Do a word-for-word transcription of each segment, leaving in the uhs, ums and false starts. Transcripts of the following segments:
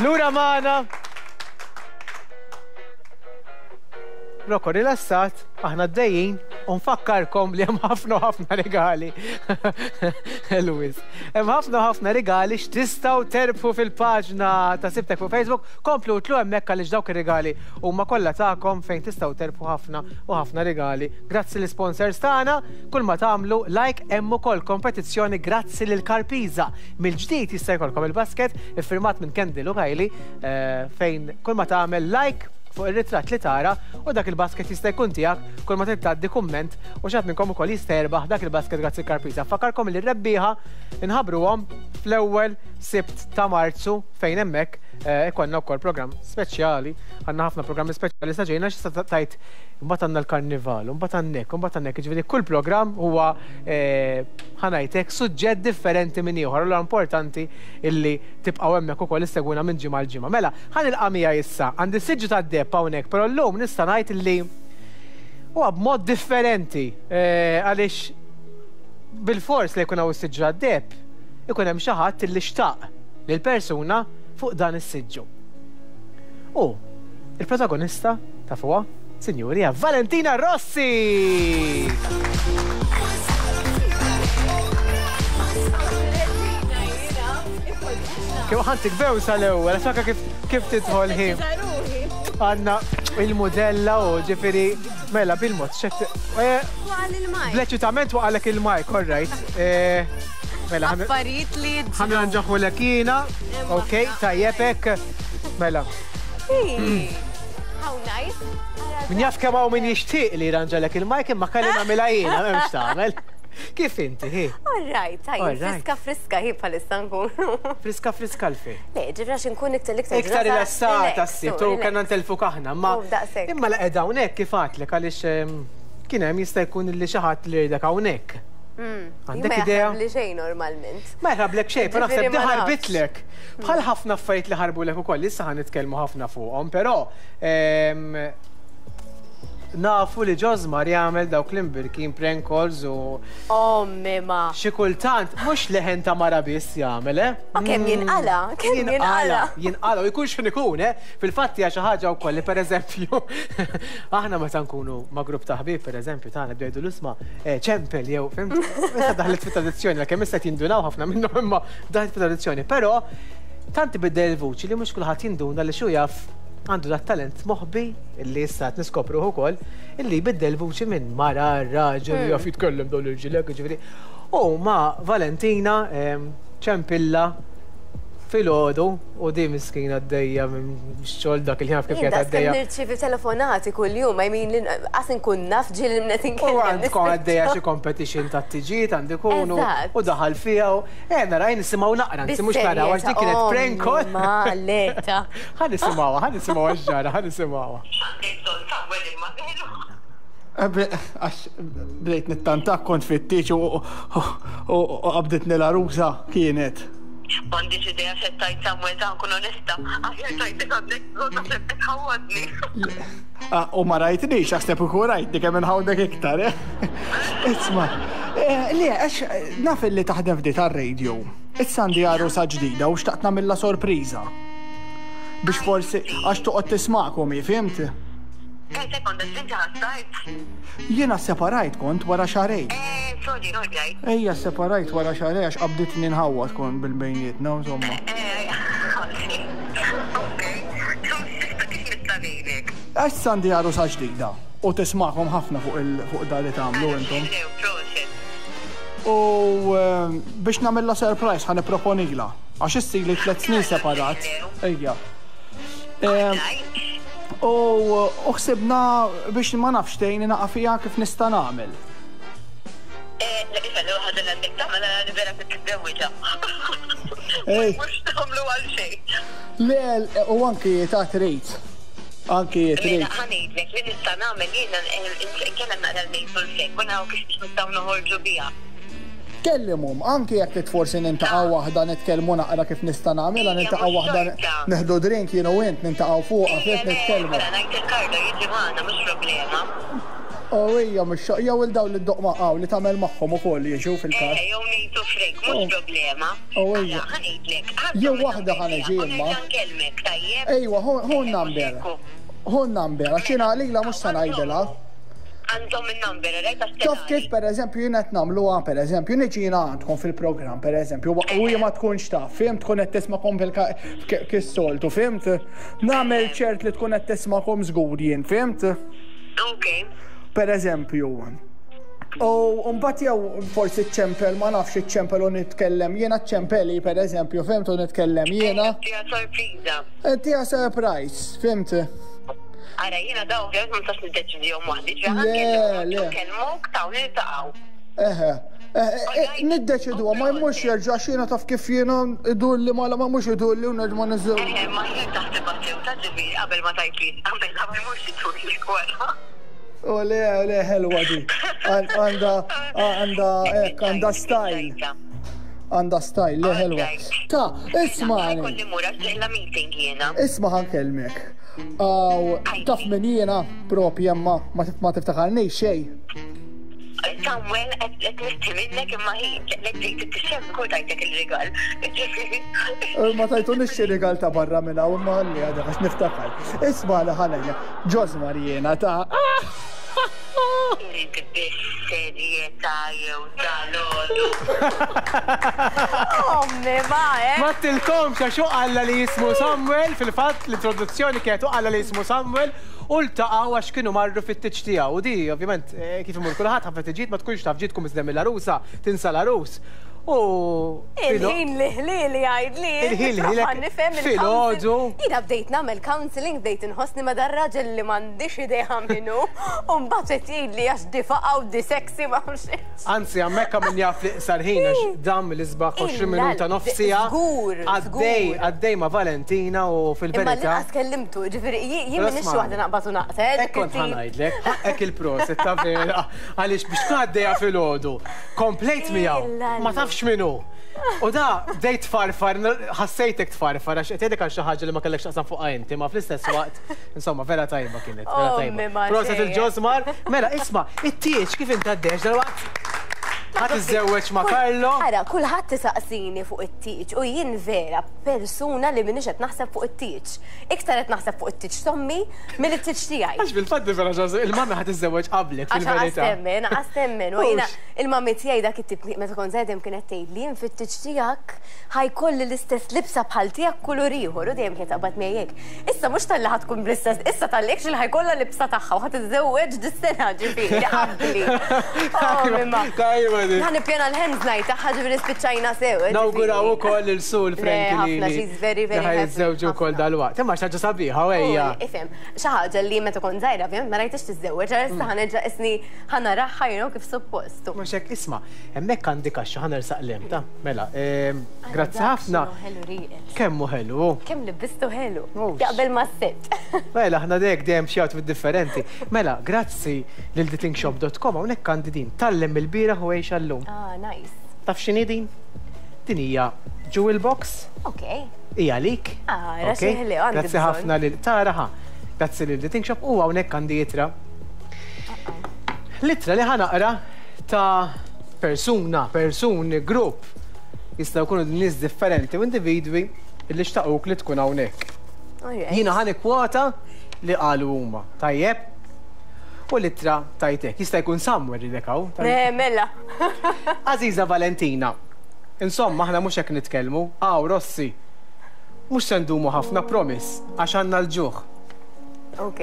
Lura magħna. Rocco rilassat, aħna d-dejjin, u nfakkarkom li hemm ħafna ħafna regali. Louis. Hemm ħafna ħafna regali x'tistgħu terbħu fil-paġna ta' Sibtek fuq Facebook, komplu tlu hemmhekk għaliex dawk ir-regali huma kollha tagħkom fejn tistgħu terbħu ħafna u ħafna regali. Grazzi l-sponsors tagħna, kull ma tagħmlu like hemm ukoll kompetizzjoni grazzi lil Karpiza. Mill-ġdid jista' jkollkom il-basket iffirmat minn Kendall u Kylie eh, fejn kull ma tagħmel like fuq ir-ritratt li tara u dak il-basket jista' jkun tiegħek kull ma trid tgħaddi kumment u xi ħadd minnkom ukoll jista' jerbaħ dak il-basket grazzi Karpiza. Fakkarkom li r-rebbieħa inħabbruhom fl-ewwel Sibt ta' Marzu fejn hemmhekk eh, ikollna wkoll programm speċjali. Għandna ħafna programmi speċjali sa ġejna x'issa tajt imbagħad għandna l-karnival, imbagħad għandek, imbagħad għandek, jiġifieri kull programm huwa eh, ħa ngħidlek suġġett differenti minn ieħor. Allura importanti illi tibqgħu hemmhekk ukoll issegwuna minn ġimgħa l ġimgħa. Mela, ħa nilqa' miegħi issa għandi siġġu tad-deheb hawnhekk, però llum nista' ngħid illi huwa b'mod differenti eh, għaliex bil-fors li jkun hawn is-siġġu tad-deheb ikun hemm xi ħadd illi xtaq lil persuna fuq dan is-siġġu. U il-protagonista ta' fuqha, sinjuri, hija Valentina Rossi! Kif ħantik bewsa l-ewwel, għax anke kif kif tidħol hi. Għandna il-modella u ġifieri mela bil-mod xed Bleċitament waqalek il-mic, all right. Eh, Mela, ħan- Affarijiet li jiġru. ħa nranġaħulek jiena, ok, tajjeb hekk. Mela, How nice. min jaf kemm hawn min jixtieq li jranġalek il-mic imma kelli nagħmilha jiena, m'hemmx tagħmel. Kif inti, hi? All right, tajjeb, All right. friska friska hi bħalissa nkunu. Friska friska l-fejn. Le, ġifra nkun iktar iktar Iktar ġurnata rilassata relax, s-sibt, u relax. kellna ntelfu kaħna, ma U daqshekk. imma la qiegħda hawnhekk kif għadtlek għaliex ehm, kien hemm jista' jkun li xi ħadd li jridek hawnhekk. Mm. Għandek Ma idea? jaħrab li xejn normalment. Ma jħrablek xejn, però naħseb Ġifieri di ma nafx. ħarbitlek. Bħal ħafna affarijiet li ħarbulek ukoll, issa ħa nitkellmu ħafna fuqhom, però ehm, nafu li Ġosmar jagħmel dawk l-imbirkin prank calls u Ommi ma. xi kultant mhux leħen ta' mara biss jagħmel, eh? Ma kemm jinqala, kemm jinqala. Jinqala, u jkun x'in ikun, eh? Fil-fatt hija xi ħaġa wkoll li pereżempju aħna meta nkunu ma' grupp ta' ħbieb pereżempju tagħna bdew jgħidu l-isma' eh, ċempel jew fhimt? Issa daħlet fit-tradizzjoni, kemm issa qed jindunaw ħafna minnhom imma daħlet fit-tradizzjoni, però tant ibiddel il-vuċi li mhux kulħadd jinduna li xu jaf għandu dat talent moħbi illi issa qed niskopruh ukoll illi jbiddel vuċi minn mara raġel jaf jitkellem dawn l-irġiel ġifieri. U ma' Valentina em, ċempilla filgħodu u di miskina għaddejja minn xogħol dak il-ħin kif Jien qiegħed daqs kemm għaddejja. nirċievi telefonati kuljum, I mean, qas nkun naf ġieli mnet U inkellem. għandkom għaddejja xi competition ta' tiġiet għandi kunu Eżatt. u daħal fiha u eh nara nisimgħu naqra, nsi mhux naraw għax dik kienet prank call. Ma leta. Ħa nisimgħuha, ħa nisimgħuha x'ġara, ħa nisimgħuha. Għax bdejt nittantak kont fit-tieġ u u qabditni l-għarusa kienet. M'għandix idea x'qed tgħid Samuel ta' nkun onesta. Aħjar tajtek għandek bżonn naħseb qed tħawwadni. Ah, U ma rajtnix, għax ikun rajtni kemm inħawdek iktar, eh? Isma, eh, le, għax naf li taħdem f'di tar-radio. Issa għandi għarusa ġdida u xtaqt nagħmilha sorpriża. Biex forsi, għax toqgħod tismakom, fhimt? Eh, sekonda, inti ħassajt. Jiena separajt kont wara xahrejn. Eh, sorry, sorry. Ejja separajt wara xahrejn għax qabditni nħawwad kon bil-bejnietna, insomma. Eh, ok. So, sista kif nista' ngħidlek? Għax għandi għarusa ġdida u tismakom ħafna fuq il fuq da li tagħmlu intom. Proset. U eh, biex nagħmilha surprise ħa nipproponila. Għax issa li tliet snin separat. Ejja. Eh, U u ħsibna biex ma nafx tgħinni naqa' fiha kif nista' nagħmel. Eh, la kif għallu ħaġa li għandek tagħmel għal vera titżewwiġha. Ej. Mhux tagħmlu għal xejn. Le, u anki ta' trid. Anki trid. Mela, ħa ngħidlek li nista' nagħmel jiena nkellem naqra l-mejtu l-fek, u naraw kif nistgħu noħorġu biha. Kellimhom, anki jekk trid forsi nintaqgħu waħda nitkellmu naqra kif nista' nagħmilha, Ejja, nintaqgħu mhux waħda xorta. neħdu drink jien u int nintaqgħu fuqha fih nitkellmu. Mela, ngħid il-Karlo jiġi magħna mhux problema. Oh, ija, mhux jew il dawn li ddoqq ma' li tagħmel magħhom ukoll jiġu fil-każ. Eh, jew ngħidu Frank, mhux problema. Oh, ija. Ħa ngħidlek. Jew waħda ħa niġi imma. Nkellmek, tajjeb? Ejwa, ħu n-number. Ħu n-number, għax jiena lilha mhux se ngħidilha. Għandhom il-number, rajt? Taf kif, per eżempju, jiena qed nagħmluha, per eżempju, niġi jiena għandkom fil-programm, per eżempju, u ma tkunx taf, fhimt, tkun qed tismakom fil-soltu, fhimt? Nagħmel ċert li tkun qed tismakom żgur jien, fhimt? Ok. Per eżempju. U mbagħad jew forsi ċempel, ma nafx, iċċempel u nitkellem jiena, ċempeli per eżempju, fhimt, u nitkellem jiena. Tija sorpriża. Tija surprise, fhimt? Ara, jiena daw, ovvjament ma nistax niddeċidihom waħdi, Le, le. Kellmuk taw niltaqgħu. Eħe, niddeċidu, ma jmux jerġa' xina taf kif jiena idur li ma ma mux idur li u nerġa' niżżew. Eħe, ma jien taħseb sew ta' ġifieri qabel ma tajtli, qabel ma jmux idur li wara. U le, le, ħelwa di. Għanda, għanda, ek, għanda style. Għanda style, le, ħelwa. Ta, ismani. Kolli mura ġejla meeting jiena. Isma', ħa nkellmek. Aw, taf min jiena propja ma ma tiftakarni xej. Samuel, qed nisti minnek imma hi, lek ġejt tixxem kol tajtek il-rigal. Ma tajtu xi rigal ta' barra minna u ma għalli għadha għax niftakar. Isma' li ħalajja, Ġosmar jiena ta'. Irid bis-serjetà jew tal-għodu. Ommi, ma, eh? Ma tilkomx għax hu qalla li jismu Samuel, fil-fatt l-introduzzjoni kienet qalla li jismu Samuel u ltaqgħu għax kienu marru fit-tieġ tiegħu. U di ovvjament eh, kif imur kulħadd, ħafna tiġijiet ma tkunx taf ġietkom iżdem il-għarusa, tinsa l-għarus. U Il-ħin li ħlili għajd li. Il-ħin li ħlilek nifhem filgħodu. Jiena bdejt nagħmel counseling, bdejt inħossni ma dar-raġel li m'għandix idea minnu. U mbagħad qed jgħidli għax di faqa u di sexy ma nafx. Anzi, hemmhekk min jaf li qsar ħin għax dam l-isbaħ għoxrin minuta, nofsija. Żgur, Għaddej, żgur. għaddej ma' Valentina u Imma fil-verità. l-inqas kellimtu, ġifieri jien minix Rosmani. waħda naqbad u naqta. Hekk kont ħa ngħidlek, hekk il-prosit ta' vera, għaliex biex tkun għaddejja filgħodu, komplejt miegħu, ma tafx minnu. U da, bdejt tfarfar, ħassejtek tfarfar, għax qed jgħidlek għal xi ħaġa li ma kellekx taqsam fuqha inti, ma fl-istess waqt, insomma, vera tajba kienet, vera Ommi tajba. ma Prosit xejn. il-Ġosmar, mela, isma', it-tieġ kif inti għaddejx dal-waqt? Ħa tiżżewweġ ma' Carlo? Ara, kulħadd tisaqsini fuq it-tieġ u jien vera persuna li minix qed naħseb fuq it-tieġ. Iktar qed naħseb fuq it-tieġ t'ommi mill-tieġ tiegħi. Għax fil-fatt vera ġoż, il-mami ħa tiżżewweġ qablek Għax fil-verità. temmen, għas temmen. U jiena il-mami tiegħi dak it-tip meta kont żgħidem kienet tgħid li jien fit-tieġ tiegħek ħa jkolli l-istess libsa bħal tiegħek kulur ieħor u dejjem kienet taqbad miegħek. Issa mhux talli ħa tkun bl-istess, issa tal-li li ħa jkollha libsa tagħha u ħa tiżżewweġ dis-sena ġifieri qabli. Oh, mimma. Tajba di. Ħa nippjana l-hens night tagħha, ġifieri spiċċajna sew. Ġifieri. Nawguraw ukoll il-sul Frank Le, ħafna, she's very, very happy. Jiżżewġu wkoll ħafna. dal-waqt. Imma xi ħaġa sabiħa ejja. U, Ifhem, xi ħaġa li meta kont żgħira ovvjament ma rajtix tiżżewweġ, għal issa ħa nerġa' isni ħa naraha you know, kif suppost. Mhux hekk, isma', hemmhekk għandi kaxxa, ħa nersaq lem ta' mela, ehm, grazzi ħafna. Ħelu riqet. Kemm hu ħelu. Kemm libistu ħelu. Oh, Jaqbel ma' set. Mela, aħna dek dejjem xi outfit differenti. Mela, grazzi lil thethingshop punt com hawnhekk għandi din. Tgħallem mill-bieraħ u għix għallum. Ah, nice. Taf x'inhi din? Din hija jewel box, Ok. hija għalik. Ah, ra Ok? xi ħelu, għandi Grazzi bżonn. ħafna lil tara ħa. Grazzi lil The Think Shop u hawnhekk għandi ittra. L-ittra li ħa naqra ta' persuna, persuni, grupp jistgħu jkunu nies differenti u individwi li xtaquk li tkun hawnhekk. Alright. Jiena ħa nikkwota li qalu huma. Tajjeb? U l-ittra tajtek. Jista' jkun Samuel li hawn. Ne, mela. Aziza Valentina, insomma, aħna mhux hekk nitkellmu. Aw, Rossi, mhux se ndumu ħafna, promise, għax għandna l-ġuħ. Ok.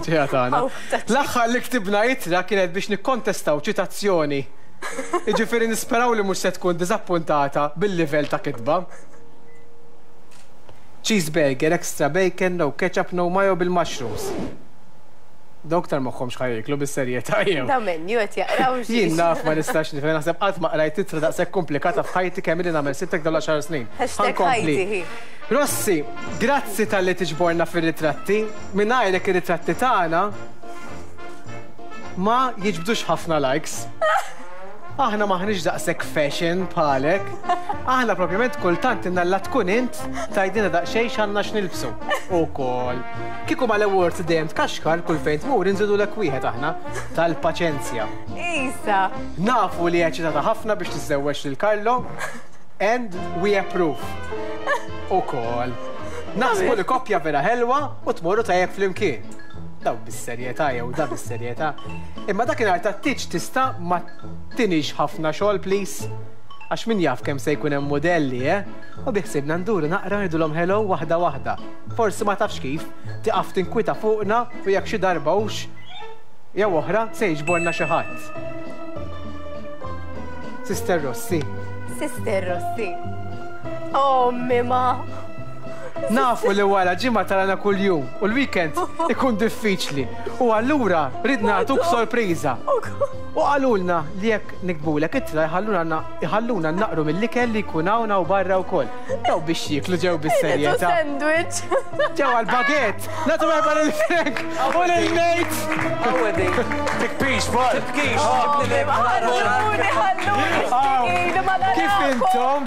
Ġeja tagħna. Aw, taċ. L-aħħar li ktibna ittra kienet biex nikkontestaw ċitazzjoni. Jiġifieri nisperaw li mhux se tkun diżappuntata bil-livell ta' kitba. Cheeseburger, extra bacon, no ketchup, no mayo, bil-mushrooms. Dawk tar moħħhom x'ħa jieklu bis-serjetà jew. Da menu qed jaqraw xi. Jien naf ma nistax nifhem, naħseb qatt ma qrajt ittra daqshekk komplikata f'ħajti kemm ili nagħmel sittek dawn l-għaxar snin. Hashtag Ħankompli. ħajti hi. Rossi, grazzi talli tiġborna fir-ritratti. Mingħajrek ir-ritratti tagħna ma jiġbdux ħafna likes. Aħna maħniex daqshekk fashion bħalek. Aħna propjament kultant innalla tkun int tgħidilna daqsxejn x'għandna x'nilbsu. Ukoll. Kieku mal-awards dejjem tkaxkar kull fejn tmur inżidulek wieħed aħna tal-paċenzja. Isa. Nafu li eċitata ħafna biex tiżżewweġ lil Carlo and we approve. Ukoll. Naħsbu li koppja vera ħelwa u tmorru tajjeb flimkien. Daw bis-serjetà jew da bis-serjetà. Imma dakinhar tat-tieġ tista' ma tinix ħafna xogħol please. Għax min jaf kemm se jkun hemm modelli, eh? U biħsibna nduru naqra ngħidulhom hello waħda waħda. Forsi ma tafx kif, tiqaf tinkwita fuqna u jekk xi darba hux jew oħra se jiġborna xi ħadd. Sister Rossi. Sister Rossi. Oh, mima. Nafu li wara ġimgħa tarana kuljum u l-weekend ikun diffiċli. U allura ridna nagħtuk sorpriża. U qalulna li jekk niktbulek ittra jħalluna jħalluna naqru mill-ikel li jkun hawn u barra wkoll. Daw biex jieklu ġew bis-serjetà. Sandwich. Ġew għal-baguette. Nagħtu merħba lil Frank u lil Nate. Tikbix, bol. Tibkix. Ħalluni, ħalluni. Kif intom?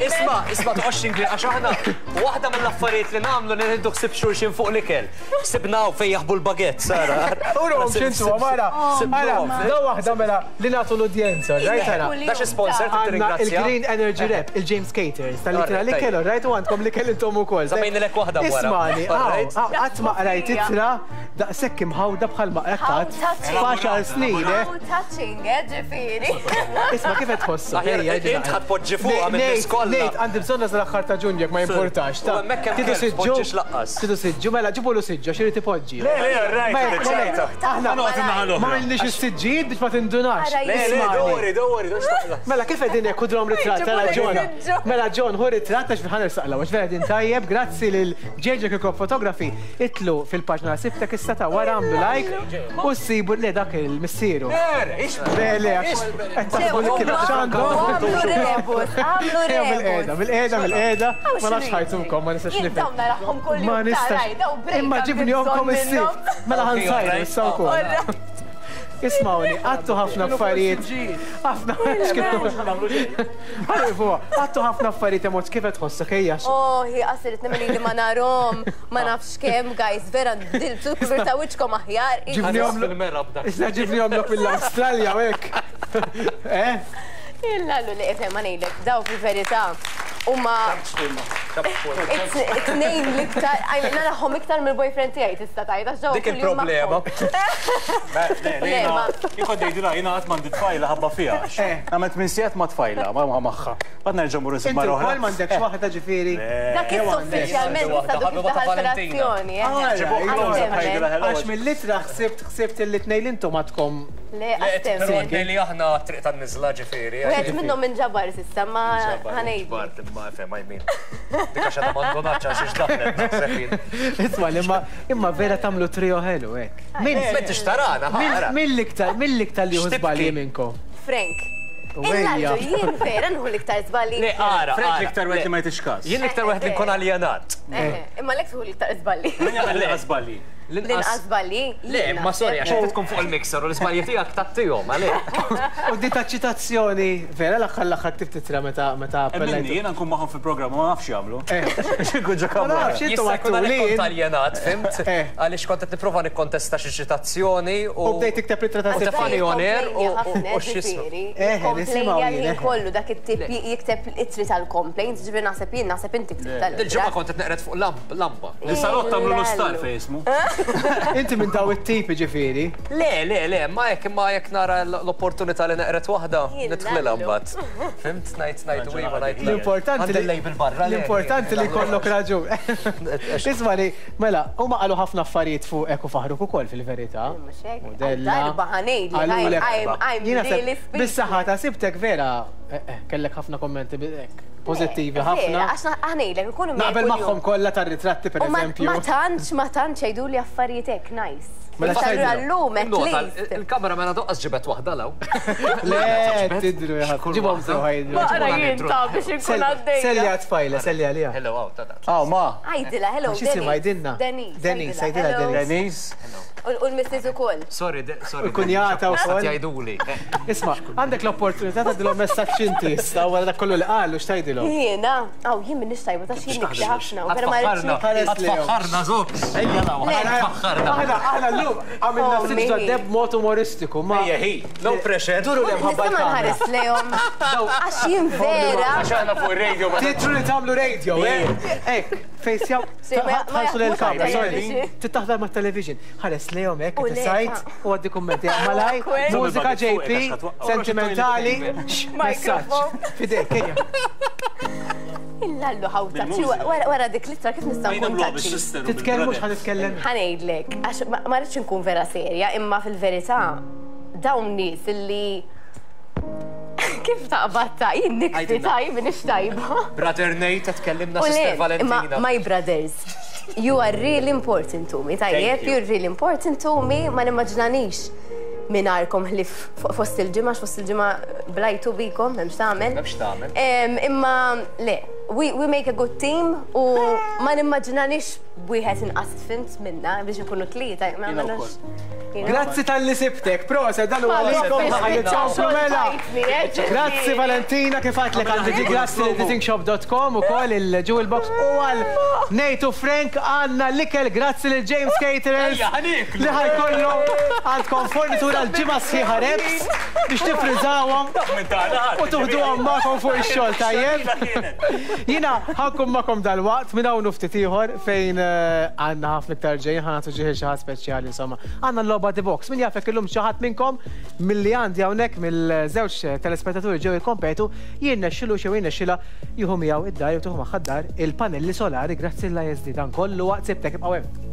Isma, isma toqgħodx tinkli għax aħna waħda mill-affarijiet li nagħmlu li nieħdu ħsieb xulxin fuq l-ikel. Sibnaw fejn jaħbu l-baguette, Sara. Urhom x'intu, mara. Ara, daw waħda mela li nagħtu l-udjenza, right ara. Da xi sponsor Għanna tirringrazzja. il-Green Energy Rep, il-James Caters, tal-litra li kellu, right, u għandkom li kellu intom ukoll. Żammejnilek waħda wara. Ismani, Alright. qatt ma qrajt ittra daqshekk imħawda bħal ma qrajt f'għaxar snin, eh. How touching, eh, ġifieri. Isma' kif qed tħossu? Aħjar, Ejja, int ġi ħa tpoġġi fuqha minn nies kollha. Nate, għandi bżonn nasal l-aħħar ta' Ġunju jekk ma jimpurtax. ta' U hemmhekk hemm Tidu kelb, siġġu, tpoġġix laqqas. Tidu siġġu, mela ġibulu siġġu, għax irid ipoġġi. Le, le, right, Ma jekk, ċajta. Aħna Noqgħod in-naħa l-oħra. ma għandniex is-siġġijiet biex ma tindunax. Ara, Le, le, Ismani. dori, dori, dori. Mela kif qegħdin hekk ħudhom ritratt tara John. Mela John ħu ritratt għax ħa nersaqla għax vera din tajjeb, grazzi lil J J Kirkop Photography. Itlu fil-paġna sibtek issa ta' wara għamlu like u ssibu le dak il-missieru. Le le għax qed taħsbu li kif x'għandu. Għamlu rebus, għamlu Bil-qeda, rebus. bil-qeda, bil-qeda, ma nafx ħajtukom, ma nistax Jien nifhem. dawn narahom kull Ma jum nistax. taraj, daw break Imma għandi ġibnihomkom bżonn is-sibt. minnhom. Mela ħa nsajru issa wkoll. Alright. Ismawni, għattu ħafna affarijiet. Ħafna. Għarrifu, għattu ħafna affarijiet emot kif qed tħossok ejja. Oh, hi qasirit nemmen li ma narom, ma nafx kemm, guys, vera dilbsu kulur ta' wiċċkom aħjar. Ġibnihom Fil-mera b'dak. Issa ġibnihom lok mill-Awstralja u hekk. Eh? Illallu li ifhem ma ngħidlek, daw fil-verità huma it-tnejn l-iktar, I mean, narahom iktar mill-boyfriend tiegħi tista' tgħid għax daw Dik kuljum il-problema. magħhom. Le, ma- Jien kont ngħidilha jiena qatt m'għandi tfajla ħabba fiha. Eh. Għamilt minn sigħat ma' tfajla, ma ma' magħha. Bad nerġa' mmur insib Inti mara oħra. wkoll m'għandekx waħda ġifieri. Dak issa uffiċjalment issa dik Ħabiba ta' daħal Valentina. relazzjoni, eh. Ah, Ġibuh close up ħajdilha hello. Għax mill-litra ħsibt ħsibt li tnejn intom għadkom Le, Le, għastem. però li aħna triq tan-niżla ġifieri. Wieħed minnhom inġabar s'issa ma ħa ngħid. Bart, imma fem, I mean. Dik għax għadha m'għandonax għax daħlet naħseb jien. Isma' li imma imma vera tagħmlu trio ħelu hekk. Min M'intix tarana, ħara. Mill-iktar mill-iktar li jieħu X'tibki? żbalji minnkom. Frank. Ejja. Illallu jien vera nħu l-iktar żballi. Le, ara. Frank ara, l-iktar wieħed le. li ma jtix każ. Jien l-iktar wieħed li nkun aljenat. Eh, Imma lek tħu l-iktar żballi. Min jagħmel l-inqas żbalji? L-inqas żballi. Le, ma sorry, għax inti tkun fuq il-mixer u l-iżbalji tiegħek tattihom, għalek. U di ta' ċitazzjoni vera l-aħħar l-aħħar ktibt titra meta meta Minni, appellajtu. jiena nkun magħhom fil-programm u ma nafx jagħmlu. Eh. X'inkun ġo Ma kamra. nafx intom Jista' jkun għattu għalhekk li kont aljenat, fimt? Eh. Għaliex kont qed nipprova nikkontesta xi ċitazzjoni u. U bdejt tikteb litra ta' U tefani on air u u x'jismu. Eh, nisimgħu jien, Komplejn eh. kollu dak it-tip jikteb ittri tal-complaints, ġifieri naħseb jien naħseb inti ktib tal Dil-ġimgħa kont qed neqred fuq lamp- lampa. Is-salott tagħmlu l-istar fej ismu. Inti minn daw it-tipi ġifieri. Le, le, le, ma jekk imma jekk nara l-opportunità li neqret waħda, Jien nidħlilha lallu. mbagħad. Fimt ngħid ngħid u iva ngħid le. L-importanti Għandi l-label barra. le. L-importanti li jkollok raġun. Isma' li, mela, huma qalu ħafna affarijiet fuqek u faħruk ukoll fil-verità. Mhux hekk. Modella. Darba ħa ngħidli, Qalulek- I'm- I'm Jiena seb- really speechless. Bis-saħħa ta' sibtek vera, eh, eh, kellek ħafna kommenti bi- hekk, pożittivi ħafna. Għax ħa ngħidlek, ikunu miegħi Naqbel kuljum. magħhom kollha tar-ritratti U ma pereżempju. ma tantx, ma tantx jgħidu li affarijiet hekk nice. Mela Iktar x'tgħidilhom? Allum, at Nota, least. il-kamera mela doqqas ġibet waħda law. Le, tidru ja ħadd. Ġibhom sew ħajdru. Maqra jien ta' biex inkun għaddejja. Selja tfajla, selja għalija. Hello, għaw, ta' Ah, ma. Għajdila, hello, X'jisimha Denise. jgħidilna? Denise. Denise, għajdila, għajdilha hello. Denise. Denise. U l-missis ukoll. Sorry, de- sorry. Kunjata wkoll. Jgħiduli. Isma', għandek l-opportunità tgħaddilhom messaġġ inti issa wara dak kollu li qalu x'tgħidilhom. Jiena, aw jien m'iniex tajba ta' xi nikti ħafna u vera ma rridx Tfaħħarna, Ħares lejhom. tfaħħarna, zok. Ejja law, tfaħħarna. Aħna aħna llum għamilna Oh, ftit me. ġodda b'mod umoristiku, ma Ejja, hi, no pressure. Duru li mħabba Nista' ma l-kamra. nħares lejhom. Għax jien vera. Għax aħna fuq ir-radio ma Titru li tagħmlu radio, eh? Ek, fejsjaw, Sì, ma- ma ħarsu lil-kamra, jaħdmux sorry. għal-television. Tittaħdar ma' television. Ħares lejhom hekk, U le, tisajt u għaddi kummenti. Malaj, Awkward. mużika J P, sentimentali, messaġġ. Microphone. Fidejk, ejja. Illallu ħawta. Wara dik l-ittra kif nista' nkun touchy? Titkellmux ħa nitkellem. Ħa ngħidlek, għax ma ma rridx nkun vera serja, imma fil-verità dawn nies illi kif taqbad ta' jien nikti Għajdilna. tajb, minix tajba. Brother Nate, tkellimna U le, Sister imma Valentina. my brothers, you are really important to me, tajjeb, Thank you. you're really important to me, ma nimmaġinanix mingħajrkom ħlief fost il-ġimgħa, fost il-ġimgħa blajtu bikom, m'hemmx tagħmel. M'hemmx tagħmel. Em, Imma le, we, we make a good team u ma nimmaġinanix wieħed inqas tfint minna biex nkunu tlieta. ma- ma nafx- you know. Grazzi talli sibtek, proset, dan huwa għalikom ħalli tkomplu mela. Grazzi Valentina, kif għedtlek għandi di grazzi li datingshop dot com u koll il-Jewel Box u għal Nate u Frank għandna l-ikel, grazzi lil James Caterers Ejja, ħa nieklu. li ħa jkollu għandkom fornitura l-ġimgħa sħiħa wraps biex tifriżawhom u tuħduhom magħkom fuq ix-xogħol, tajjeb. Jiena ħa nkun magħkom dal-waqt minn hawn ftit ieħor fejn eh, għandna ħafna iktar ġejjin, ħa nagħtu ġieħ xi ħadd speċjali insomma. Għandna l-logħba The Box. Min jafek illum xi ħadd minnkom milli għandi hawnhekk mill-żewġ telespettaturi ġew jikkompetu jirnexxilu xew jirnexxilha jieħu miegħu id-dar jew tieħu magħha d-dar il-panelli solari grazzi l-I S D. Dan kollu waqt Sibtek, ibqgħu hemm.